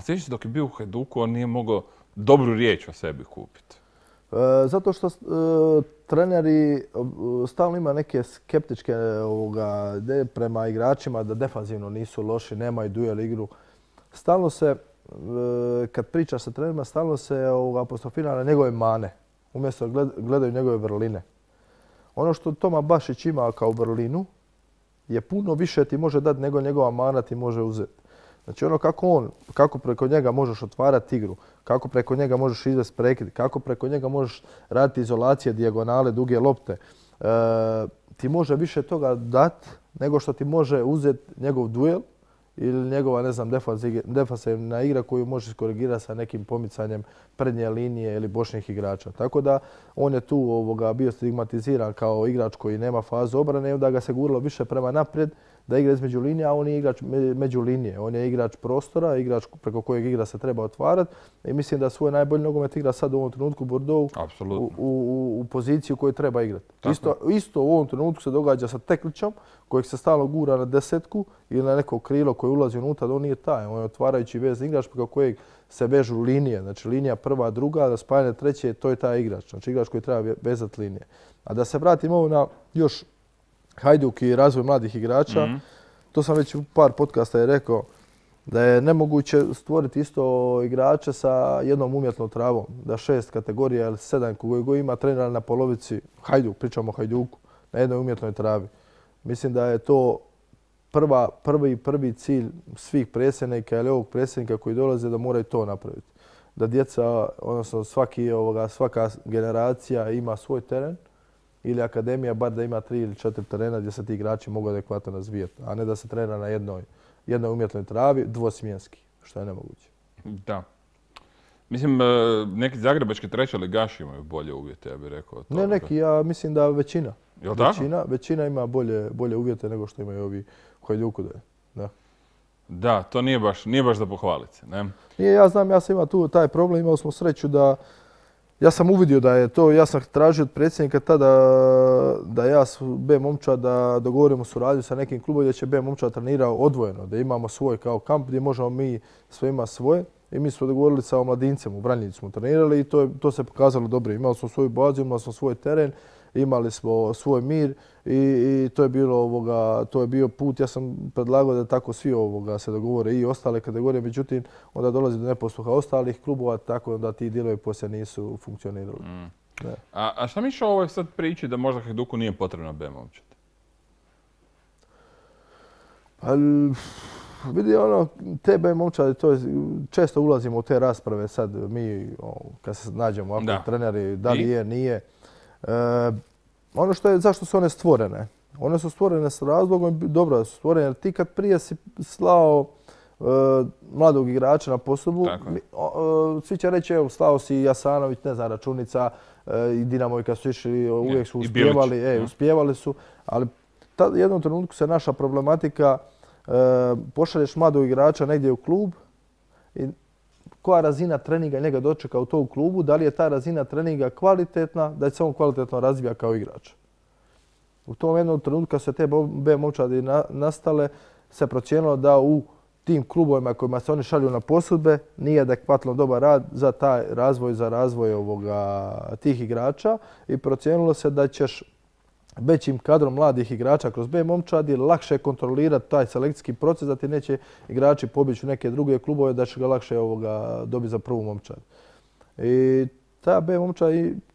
sjećaš se dok je bio u Hajduku, on nije mogao dobru riječ o sebi kupiti. Zato što treneri stalno ima neke skeptičke ideje prema igračima da defanzivno nisu loši, nemaju duel igru. Stalno se, kad pričaš sa trenerima, stalno se apostrofira na njegove mane, umjesto gledaju njegove vrline. Ono što Toma Bašić ima kao vrlinu je puno više ti može dati nego njegova mana ti može uzeti. Znači ono kako preko njega možeš otvarati igru, kako preko njega možeš izvesti prekid, kako preko njega možeš raditi izolacije, dijagonale, duge lopte. Ti može više toga dati nego što ti može uzeti njegov duel ili njegova, ne znam, defanzivna igra koju možeš korigirati sa nekim pomicanjem prednje linije ili bočnih igrača. Tako da on je tu bio stigmatiziran kao igrač koji nema fazu obrane i onda ga se guralo više prema naprijed da igra između linija, a on je igrač među linije. On je igrač prostora, igrač preko kojeg igra se treba otvarati i mislim da svoj najbolji nogomet igra sad u ovom trenutku u Bordeauxu u poziciju koju treba igrati. Isto u ovom trenutku se događa sa Teklićom kojeg se stalno gura na desetku ili na neko krilo koje ulazi unutra, da on nije taj. On je otvarajući vezni igrač preko kojeg se vežu linije. Znači linija prva, druga, da spajanje treće, to je taj igrač. Znači igrač koji treba vezati linije. A da se vratimo na još Hajduk i razvoj mladih igrača, to sam već u par podcasta rekao, da je nemoguće stvoriti isto igrače sa jednom umjetnom travom. Da 6 kategorija ili 7 koji ima trenera na polovici, pričamo o Hajduku, na jednoj umjetnoj travi. Mislim da je to prvi cilj svih predsjednika ili ovog predsjednika koji dolaze da moraju to napraviti. Da djeca, odnosno svaka generacija ima svoj teren ili akademija bar da ima 3 ili 4 terena gdje se ti igrači mogu adekvatno razvijati, a ne da se trenira na jednoj umjetnoj travi dvosmjenski, što je nemoguće. Da. Mislim, neki zagrebački trećoligaši imaju bolje uvjete, ja bih rekao. Ne neki, ja mislim da većina. Jel' tako? Većina ima bolje uvjete nego što imaju ovi u Hajduku. Da, to nije baš za pohvaliti se, ne? Nije, ja znam, ja sam imao tu taj problem, imali smo sreću da ja sam uvidio da je to, ja sam tražio od predsjednika tada da ja s B momčad da dogovorimo suradnju sa nekim klubom gdje će B momčad trenirao odvojeno, da imamo svoj kao kamp gdje možemo mi sve ima svoje. I mi smo dogovorili sa omladincem, u Vranjicu smo trenirali i to se pokazalo dobro. Imali smo svoju bazu, imali smo svoj teren, imali smo svoj mir i to je bio put. Ja sam predlagao da tako svi se dogovore i ostale kategorije, međutim onda dolazi do neposluha ostalih klubova, tako da ti dijelovi poslije nisu funkcionirali. A šta misliš o ovoj sad priči da možda Hajduku nije potrebna B momčad? Vidi te B momčadi, često ulazimo u te rasprave sad mi kad se nađemo ovako treneri, da li je, nije. Ono što je, zašto su one stvorene? One su stvorene s razlogom, dobro su stvorene, jer ti kad prije si slao mladog igrača na posudbu, svi će reći, evo, slao si Jasanović, ne znam, Računica i Dinamo kad su išli, uvijek su uspjevali su, ali u jednom trenutku se naša problematika pošalješ mladog igrača negdje u klub i koja razina treninga njega dočeka u tom klubu, da li je ta razina treninga kvalitetna, da se on kvalitetno razvija kao igrač. U tom jednom trenutku kad se te B momčadi nastale, se procijenilo da u tim klubovima kojima se oni šalju na posudbe nije adekvatno dobar rad za taj razvoj, za razvoj tih igrača i procijenilo se da ćeš većim kadrom mladih igrača kroz B momčadi lakše kontrolirati taj selekcijski proces, da ti neće igrači pobjeći u neke druge klubove, da će ga lakše dobiti za prvu momčad. I ta B momčad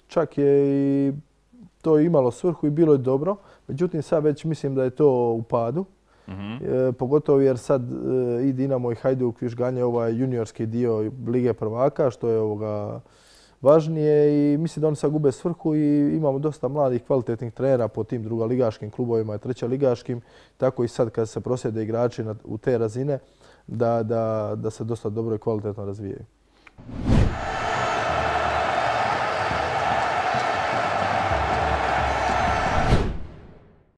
čak je i to imalo svrhu i bilo je dobro, međutim sad već mislim da je to u padu. Pogotovo jer sad i Dinamo i Hajduk još ganje ovaj juniorski dio Lige prvaka, što je važnije i mislim da oni sad gube svrhu i imamo dosta mladih kvalitetnih trenera po tim drugoligaškim klubovima i trećoligaškim. Tako i sad kad se proslijede igrači u te razine da se dosta dobro i kvalitetno razvijaju.